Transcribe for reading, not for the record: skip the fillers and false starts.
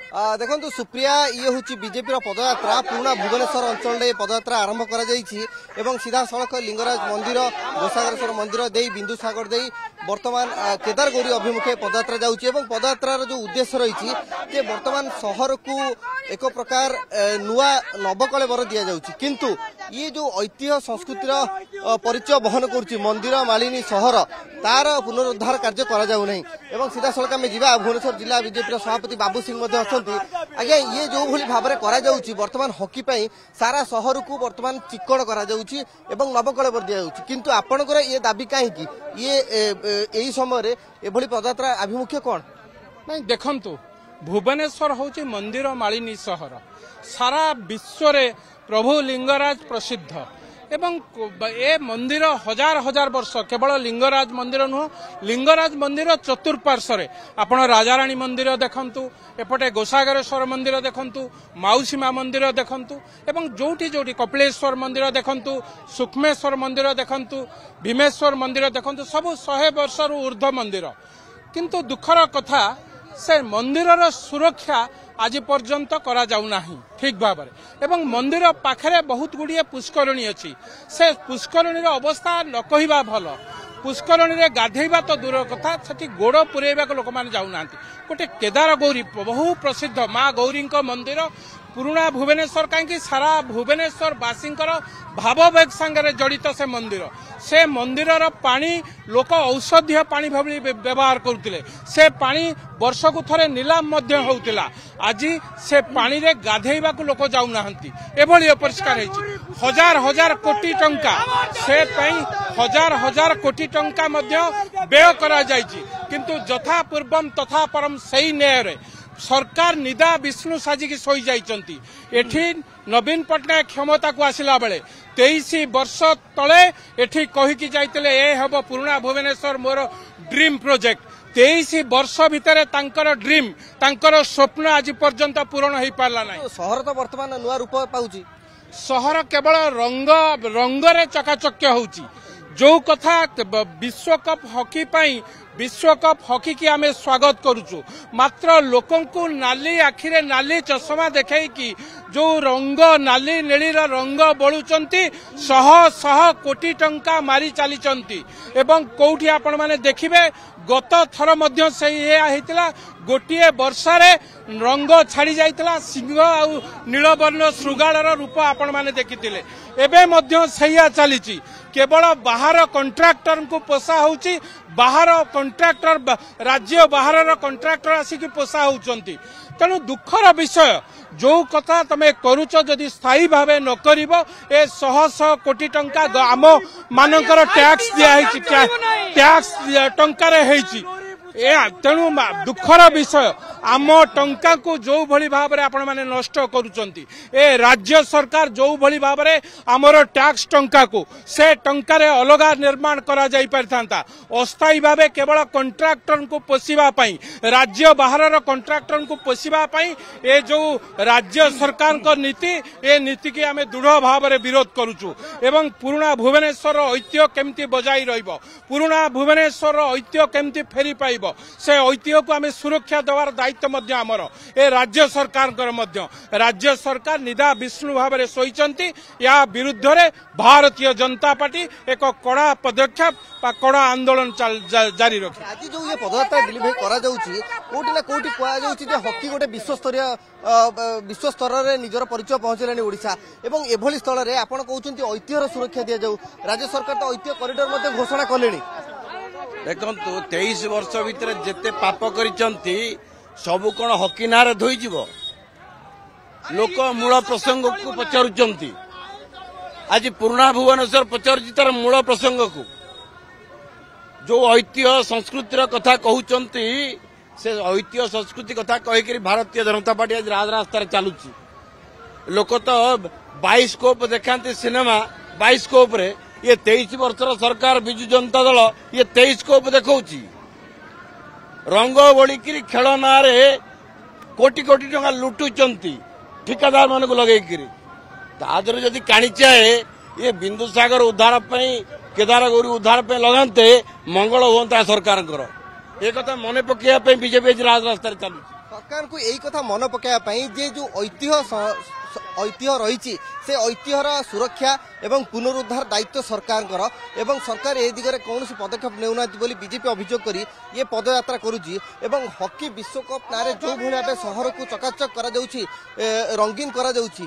ଦେଖନ୍ତୁ ସୁପ୍ରିୟା, ଇଏ ହେଉଛି ବିଜେପିର ପଦଯାତ୍ରା। ପୁରୁଣା ଭୁବନେଶ୍ୱର ଅଞ୍ଚଳରେ ପଦଯାତ୍ରା ଆରମ୍ଭ କରାଯାଇଛି ଏବଂ ସିଧାସଳଖ ଲିଙ୍ଗରାଜ ମନ୍ଦିର, ଗୋସାଗରେଶ୍ୱର ମନ୍ଦିର ଦେଇ, ବିନ୍ଦୁସାଗର ଦେଇ ବର୍ତ୍ତମାନ କେଦାରଗୌରୀ ଅଭିମୁଖେ ପଦଯାତ୍ରା ଯାଉଛି। ଏବଂ ପଦଯାତ୍ରାର ଯେଉଁ ଉଦ୍ଦେଶ୍ୟ ରହିଛି ଯେ ବର୍ତ୍ତମାନ ସହରକୁ ଏକ ପ୍ରକାର ନୂଆ ନବକଳେବର ଦିଆଯାଉଛି, କିନ୍ତୁ ଇଏ ଯେଉଁ ଐତିହ୍ୟ ସଂସ୍କୃତିର ପରିଚୟ ବହନ କରୁଛି ମନ୍ଦିର ମାଳିନୀ ସହର, ତାର ପୁନରୁଦ୍ଧାର କାର୍ଯ୍ୟ କରାଯାଉ ନାହିଁ। ଏବଂ ସିଧାସଳଖ ଆମେ ଯିବା, ଭୁବନେଶ୍ୱର ଜିଲ୍ଲା ବିଜେପିର ସଭାପତି ବାବୁ ସିଂ ମଧ୍ୟ ଅଛନ୍ତି। ଆଜ୍ଞା, ଇଏ ଯେଉଁଭଳି ଭାବରେ କରାଯାଉଛି, ବର୍ତ୍ତମାନ ହକି ପାଇଁ ସାରା ସହରକୁ ବର୍ତ୍ତମାନ ଚିକ୍କଣ କରାଯାଉଛି ଏବଂ ନବକଳେବର ଦିଆଯାଉଛି, କିନ୍ତୁ ଆପଣଙ୍କର ଇଏ ଦାବି କାହିଁକି? ଇଏ ଏହି ସମୟରେ ଏଭଳି ପଦଯାତ୍ରା ଆଭିମୁଖ୍ୟ କ'ଣ? ନାଇଁ, ଦେଖନ୍ତୁ, ଭୁବନେଶ୍ୱର ହେଉଛି ମନ୍ଦିର ମାଳିନୀ ସହର। ସାରା ବିଶ୍ୱରେ ପ୍ରଭୁ ଲିଙ୍ଗରାଜ ପ୍ରସିଦ୍ଧ ଏବଂ ଏ ମନ୍ଦିର ହଜାର ହଜାର ବର୍ଷ, କେବଳ ଲିଙ୍ଗରାଜ ମନ୍ଦିର ନୁହଁ, ଲିଙ୍ଗରାଜ ମନ୍ଦିର ଚତୁଃପାର୍ଶ୍ୱରେ ଆପଣ ରାଜାରାଣୀ ମନ୍ଦିର ଦେଖନ୍ତୁ, ଏପଟେ ଗୋସାଗରେଶ୍ୱର ମନ୍ଦିର ଦେଖନ୍ତୁ, ମାଉସୀ ମା ମନ୍ଦିର ଦେଖନ୍ତୁ ଏବଂ ଯୋଉଠି ଯୋଉଠି କପିଳେଶ୍ୱର ମନ୍ଦିର ଦେଖନ୍ତୁ, ସୂକ୍ଷ୍ମେଶ୍ୱର ମନ୍ଦିର ଦେଖନ୍ତୁ, ଭୀମେଶ୍ୱର ମନ୍ଦିର ଦେଖନ୍ତୁ, ସବୁ 100 ବର୍ଷରୁ ଉର୍ଦ୍ଧ୍ୱ ମନ୍ଦିର। କିନ୍ତୁ ଦୁଃଖର କଥା, ସେ ମନ୍ଦିରର ସୁରକ୍ଷା ଆଜି ପର୍ଯ୍ୟନ୍ତ କରାଯାଉନାହିଁ ଠିକ୍ ଭାବରେ। ଏବଂ ମନ୍ଦିର ପାଖରେ ବହୁତ ଗୁଡ଼ିଏ ପୁଷ୍କରିଣୀ ଅଛି। ସେ ପୁଷ୍କରିଣୀର ଅବସ୍ଥା ନ କହିବା ଭଲ। ପୁଷ୍କରିଣୀରେ ଗାଧେଇବା ତ ଦୂର କଥା, ସେଠି ଗୋଡ଼ ପୁରେଇବାକୁ ଲୋକମାନେ ଯାଉନାହାନ୍ତି। ଗୋଟେ କେଦାର ଗୌରୀ, ବହୁ ପ୍ରସିଦ୍ଧ ମା ଗୌରୀଙ୍କ ମନ୍ଦିର, ପୁରୁଣା ଭୁବନେଶ୍ୱର କାହିଁକି ସାରା ଭୁବନେଶ୍ୱରବାସୀଙ୍କର ଭାବବେଗ ସାଙ୍ଗରେ ଜଡ଼ିତ ସେ ମନ୍ଦିର। ସେ ମନ୍ଦିରର ପାଣି ଲୋକ ଔଷଧୀୟ ପାଣି ଭଳି ବ୍ୟବହାର କରୁଥିଲେ। ସେ ପାଣି ବର୍ଷକୁ ଥରେ ନିଲାମ ମଧ୍ୟ ହେଉଥିଲା। ଆଜି ସେ ପାଣିରେ ଗାଧେଇବାକୁ ଲୋକ ଯାଉନାହାନ୍ତି, ଏଭଳି ଅପରିଷ୍କାର ହେଇଛି। ହଜାର ହଜାର କୋଟି ଟଙ୍କା ସେ ପାଇଁ, ହଜାର ହଜାର କୋଟି ଟଙ୍କା ମଧ୍ୟ ବ୍ୟୟ କରାଯାଇଛି, କିନ୍ତୁ ଯଥା ପୂର୍ବମ ତଥା ପରମ, ସେଇ ନ୍ୟାୟରେ ସରକାର ନିଦା ବିଷ୍ଣୁ ସାଜିକି ଶୋଇଯାଇଛନ୍ତି। ଏଠି ନବୀନ ପଟ୍ଟନାୟକ କ୍ଷମତାକୁ ଆସିଲା ବେଳେ 23 ବର୍ଷ ତଳେ ଏଠି କହିକି ଯାଇଥିଲେ, ଏ ହେବ ପୁରୁଣା ଭୁବନେଶ୍ୱର ମୋର ଡ୍ରିମ୍ ପ୍ରୋଜେକ୍ଟ। 23 ବର୍ଷ ଭିତରେ ତାଙ୍କର ଡ୍ରିମ୍, ତାଙ୍କର ସ୍ୱପ୍ନ ଆଜି ପର୍ଯ୍ୟନ୍ତ ପୂରଣ ହେଇପାରିଲା ନାହିଁ। ସହର ତ ବର୍ତ୍ତମାନ ନୂଆ ରୂପ ପାଉଛି। ସହର କେବଳ ରଙ୍ଗ ରଙ୍ଗରେ ଚକାଚକ୍ୟ ହେଉଛି। ଯୋଉ କଥା ବିଶ୍ୱକପ୍ ହକି ପାଇଁ, ବିଶ୍ୱକପ୍ ହକିକି ଆମେ ସ୍ୱାଗତ କରୁଛୁ, ମାତ୍ର ଲୋକଙ୍କୁ ନାଲି ଆଖିରେ ନାଲି ଚଷମା ଦେଖେଇକି ଯୋଉ ରଙ୍ଗ, ନାଲି ନେଳିର ରଙ୍ଗ ବୋଳୁଛନ୍ତି, ଶହ ଶହ କୋଟି ଟଙ୍କା ମାରି ଚାଲିଛନ୍ତି। ଏବଂ କୋଉଠି ଆପଣମାନେ ଦେଖିବେ, ଗତ ଥର ମଧ୍ୟ ସେଇ ଏଇଆ ହେଇଥିଲା। ଗୋଟିଏ ବର୍ଷାରେ ରଙ୍ଗ ଛାଡ଼ି ଯାଇଥିଲା, ସିଂହ ଆଉ ନୀଳବର୍ଣ୍ଣ ଶୃଗାଳର ରୂପ ଆପଣମାନେ ଦେଖିଥିଲେ। ଏବେ ମଧ୍ୟ ସେଇଆ ଚାଲିଛି। କେବଳ ବାହାର କଣ୍ଟ୍ରାକ୍ଟରଙ୍କୁ ପୋଷା ହେଉଛି, ବାହାର କଣ୍ଟ୍ରାକ୍ଟର, ରାଜ୍ୟ ବାହାରର କଣ୍ଟ୍ରାକ୍ଟର ଆସିକି ପୋଷା ହେଉଛନ୍ତି। ତେଣୁ ଦୁଃଖର ବିଷୟ, ଯୋଉ କଥା ତମେ କରୁଛ ଯଦି ସ୍ଥାୟୀ ଭାବେ ନ କରିବ, ଏ ଶହ ଶହ କୋଟି ଟଙ୍କା ଆମ ମାନଙ୍କର ଟ୍ୟାକ୍ସ ଦିଆହେଇଛି, ଟ୍ୟାକ୍ସ ଟଙ୍କାରେ ହେଇଛି ଏ। ତେଣୁ ଦୁଃଖର ବିଷୟ, ଆମ ଟଙ୍କାକୁ ଯୋଉଭଳି ଭାବରେ ଆପଣମାନେ ନଷ୍ଟ କରୁଛନ୍ତି, ଏ ରାଜ୍ୟ ସରକାର ଯୋଉଭଳି ଭାବରେ ଆମର ଟ୍ୟାକ୍ସ ଟଙ୍କାକୁ, ସେ ଟଙ୍କାରେ ଅଲଗା ନିର୍ମାଣ କରାଯାଇ ପାରିଥାନ୍ତା। ଅସ୍ଥାୟୀ ଭାବେ କେବଳ କଣ୍ଟ୍ରାକ୍ଟରଙ୍କୁ ପୋଷିବା ପାଇଁ, ରାଜ୍ୟ ବାହାରର କଣ୍ଟ୍ରାକ୍ଟରଙ୍କୁ ପୋଷିବା ପାଇଁ ଏ ଯୋଉ ରାଜ୍ୟ ସରକାରଙ୍କ ନୀତି, ଏ ନୀତିକି ଆମେ ଦୃଢ଼ ଭାବରେ ବିରୋଧ କରୁଛୁ। ଏବଂ ପୁରୁଣା ଭୁବନେଶ୍ୱରର ଐତିହ୍ୟ କେମିତି ବଜାଇ ରହିବ, ପୁରୁଣା ଭୁବନେଶ୍ୱରର ଐତିହ୍ୟ କେମିତି ଫେରି ପାଇବ, ସେ ଐତିହ୍ୟକୁ ଆମେ ସୁରକ୍ଷା ଦେବାର ଦାୟିତ୍ୱ ମଧ୍ୟ ଆମର, ଏ ରାଜ୍ୟ ସରକାରଙ୍କର ମଧ୍ୟ। ରାଜ୍ୟ ସରକାର ନିଦା ବିଷ୍ଣୁ ଭାବରେ ଶୋଇଛନ୍ତି। ୟା ବିରୁଦ୍ଧରେ ଭାରତୀୟ ଜନତା ପାର୍ଟି ଏକ କଡ଼ା ପଦକ୍ଷେପ ବା କଡ଼ା ଆନ୍ଦୋଳନ ଜାରି ରଖିବ। ଆଜି ଯୋଉ ଇଏ ପଦଯାତ୍ରା ଡିଲିଭରି କରାଯାଉଛି, କୋଉଠି ନା କୋଉଠି କୁହାଯାଉଛି ଯେ ହକି ଗୋଟେ ବିଶ୍ୱସ୍ତରୀୟ, ବିଶ୍ୱ ସ୍ତରରେ ନିଜର ପରିଚୟ ପହଞ୍ଚିଲାଣି ଓଡ଼ିଶା, ଏବଂ ଏଭଳି ସ୍ଥଳରେ ଆପଣ କହୁଛନ୍ତି ଐତିହ୍ୟର ସୁରକ୍ଷା ଦିଆଯାଉ। ରାଜ୍ୟ ସରକାର ତ ଐତିହ୍ୟ କରିଡର ମଧ୍ୟ ଘୋଷଣା କଲେଣି। ଦେଖନ୍ତୁ, 23 ବର୍ଷ ଭିତରେ ଯେତେ ପାପ କରିଛନ୍ତି ସବୁ କଣ ହକି ନାଁରେ ଧୋଇଯିବ? ଲୋକ ମୂଳ ପ୍ରସଙ୍ଗକୁ ପଚାରୁଛନ୍ତି। ଆଜି ପୁରୁଣା ଭୁବନେଶ୍ୱର ପଚାରୁଛି ତାର ମୂଳ ପ୍ରସଙ୍ଗକୁ। ଯୋଉ ଐତିହ୍ୟ ସଂସ୍କୃତିର କଥା କହୁଛନ୍ତି, ସେ ଐତିହ୍ୟ ସଂସ୍କୃତି କଥା କହିକିରି ଭାରତୀୟ ଜନତା ପାର୍ଟି ଆଜି ରାଜରାସ୍ତାରେ ଚାଲୁଛି। ଲୋକ ତ ବାଇସ୍କୋପ ଦେଖାନ୍ତି, ସିନେମା ବାଇସ୍କୋପରେ। ଇଏ 23 ବର୍ଷର ସରକାର ବିଜୁ ଜନତା ଦଳ ଇଏ 23 କୋପ ଦେଖାଉଛି। ରଙ୍ଗ ବୋଳିକିରି ଖେଳ ନାଁରେ କୋଟି କୋଟି ଟଙ୍କା ଲୁଟୁଛନ୍ତି ଠିକାଦାର ମାନଙ୍କୁ ଲଗେଇକିରି। ତା ଦେହରେ ଯଦି କାଣିଚାଏ ଇଏ ବିନ୍ଦୁସାଗର ଉଦ୍ଧାର ପାଇଁ, କେଦାରଗୌରୀ ଉଦ୍ଧାର ପାଇଁ ଲଗାନ୍ତେ, ମଙ୍ଗଳ ହୁଅନ୍ତା ସରକାରଙ୍କର। ଏ କଥା ମନେ ପକେଇବା ପାଇଁ ବିଜେପି ଆଜି ରାଜରାସ୍ତାରେ ଚାଲୁଛି। ସରକାରଙ୍କୁ ଏଇ କଥା ମନେ ପକାଇବା ପାଇଁ ଯେ ଯେଉଁ ଐତିହ୍ୟ ଐତିହ୍ୟ ରହିଛି, ସେ ଐତିହ୍ୟର ସୁରକ୍ଷା ଏବଂ ପୁନରୁଦ୍ଧାର ଦାୟିତ୍ୱ ସରକାରଙ୍କର ଏବଂ ସରକାର ଏ ଦିଗରେ କୌଣସି ପଦକ୍ଷେପ ନେଉନାହାନ୍ତି ବୋଲି ବିଜେପି ଅଭିଯୋଗ କରି ଇଏ ପଦଯାତ୍ରା କରୁଛି। ଏବଂ ହକି ବିଶ୍ୱକପ୍ ନାଁରେ ଯେଉଁଭଳି ଭାବେ ସହରକୁ ଚକାଚକ କରାଯାଉଛି, ରଙ୍ଗୀନ କରାଯାଉଛି,